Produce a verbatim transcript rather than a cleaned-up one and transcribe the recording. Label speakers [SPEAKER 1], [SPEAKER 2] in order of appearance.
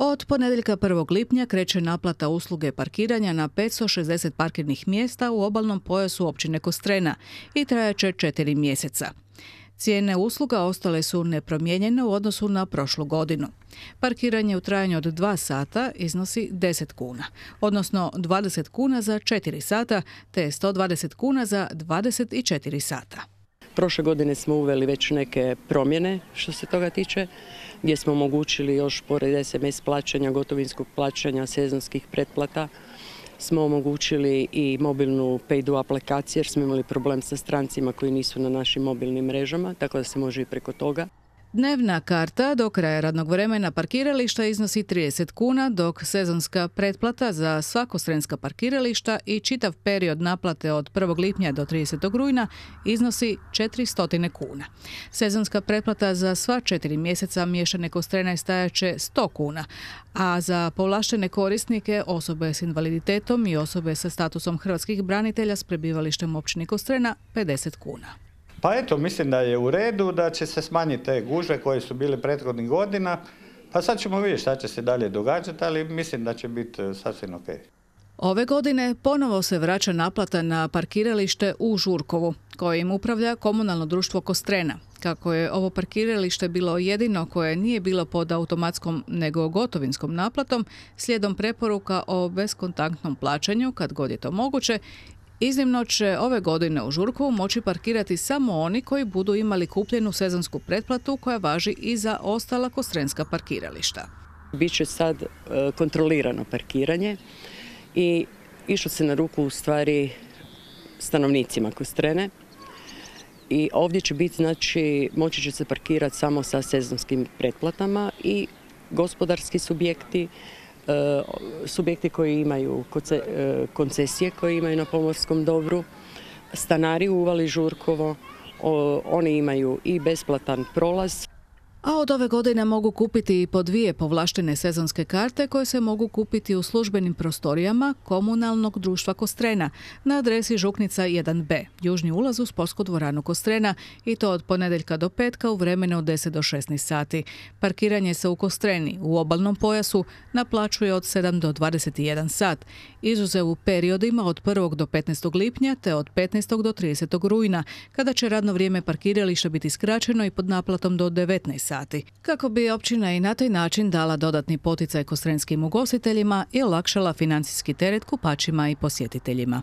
[SPEAKER 1] Od ponedjeljka prvog lipnja kreće naplata usluge parkiranja na petsto šezdeset parkirnih mjesta u obalnom pojasu općine Kostrena i trajaće četiri mjeseca. Cijene usluga ostale su nepromijenjene u odnosu na prošlu godinu. Parkiranje u trajanju od dva sata iznosi deset kuna, odnosno dvadeset kuna za četiri sata te sto dvadeset kuna za dvadeset četiri sata.
[SPEAKER 2] Prošle godine smo uveli već neke promjene što se toga tiče, gdje smo omogućili još pored es em es plaćanja, gotovinskog plaćanja, sezonskih pretplata, smo omogućili i mobilnu Paydo aplikaciju jer smo imali problem sa strancima koji nisu na našim mobilnim mrežama, tako da se može i preko toga.
[SPEAKER 1] Dnevna karta do kraja radnog vremena parkirališta iznosi trideset kuna, dok sezonska pretplata za sva kostrenska parkirališta i čitav period naplate od prvog lipnja do tridesetog rujna iznosi četiristo kuna. Sezonska pretplata za sva četiri mjeseca miješane Kostrena stajaće sto kuna, a za povlaštene korisnike, osobe s invaliditetom i osobe sa statusom hrvatskih branitelja s prebivalištem u općini Kostrena pedeset kuna.
[SPEAKER 3] Pa eto, mislim da je u redu, da će se smanjiti te gužve koje su bile prethodnih godina. Pa sad ćemo vidjeti šta će se dalje događati, ali mislim da će biti sasvim ok.
[SPEAKER 1] Ove godine ponovo se vraća naplata na parkiralište u Žurkovu, kojim upravlja komunalno društvo Kostrena. Kako je ovo parkiralište bilo jedino koje nije bilo pod automatskom nego gotovinskom naplatom, slijedom preporuka o beskontaktnom plaćanju, kad god je to moguće, iznimno će ove godine u Žurkovu moći parkirati samo oni koji budu imali kupljenu sezonsku pretplatu koja važi i za ostala kostrenska parkirališta.
[SPEAKER 2] Biće sad kontrolirano parkiranje i išlo se na ruku u stvari stanovnicima Kostrene. I ovdje će biti, znači, moći će se parkirati samo sa sezonskim pretplatama i gospodarski subjekti, subjekti koji imaju koncesije koje imaju na pomorskom dobru, stanari u uvali Žurkovo, oni imaju i besplatan prolaz.
[SPEAKER 1] A od ove godine mogu kupiti i po dvije povlaštene sezonske karte koje se mogu kupiti u službenim prostorijama komunalnog društva Kostrena na adresi Žuknica jedan be, južni ulaz u sportsku dvoranu Kostrena, i to od ponedjeljka do petka u vremenu od deset do šesnaest sati. Parkiranje se u Kostreni u obalnom pojasu naplaćuje od sedam do dvadeset jedan sat, izuzev u periodima od prvog do petnaestog lipnja te od petnaestog do tridesetog rujna, kada će radno vrijeme parkirališta biti skraćeno i pod naplatom do devetnaest sati, kako bi općina i na taj način dala dodatni poticaj kostrenskim ugostiteljima i olakšala financijski teret kupačima i posjetiteljima.